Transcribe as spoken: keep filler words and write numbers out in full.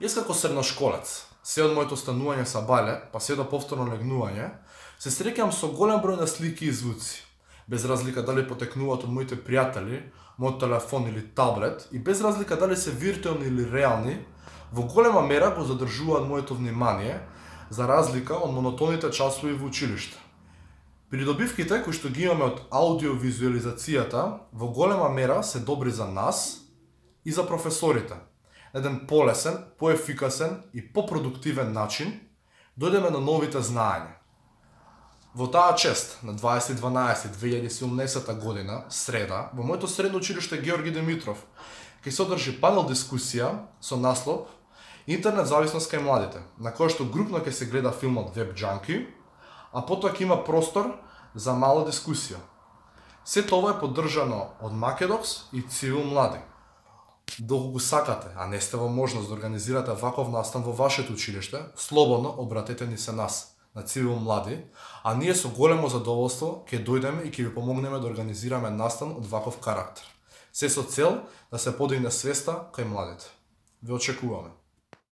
Јас како средношколец, се од моето станување са бале, па се до повторно легнување, се среќам со голем број на слики и звуци, без разлика дали потекнуваат од моите пријатели, мојот телефон или таблет, и без разлика дали се виртуелни или реални, во голема мера го задржуваат моето внимание, за разлика од монотоните часови во училиште. Придобивките кои што ги имаме од аудиовизуализацијата во голема мера се добри за нас и за професорите. На еден полесен, поефикасен и попродуктивен начин дојдеме на новите знаења. Во таа чест на дваесет дванаесет две илјади и седумнаесета година, среда, во моето средно училиште Георги Димитров ќе се одржи панел дискусија со наслов Интернет зависност кај младите, на која што групно ќе се гледа филмот Web Junkie, а потоа ќе има простор за мала дискусија. Се тоа е поддржано од Македокс и Цивил Млади. Доколку сакате, а не сте во можност да организирате ваков настан во вашето училиште, слободно обратете ни се нас, на Цивил Млади, а ние со големо задоволство ќе дојдеме и ќе ви помогнеме да организираме настан од ваков карактер. Се со цел да се подигне свеста кај младите. Ве очекуваме.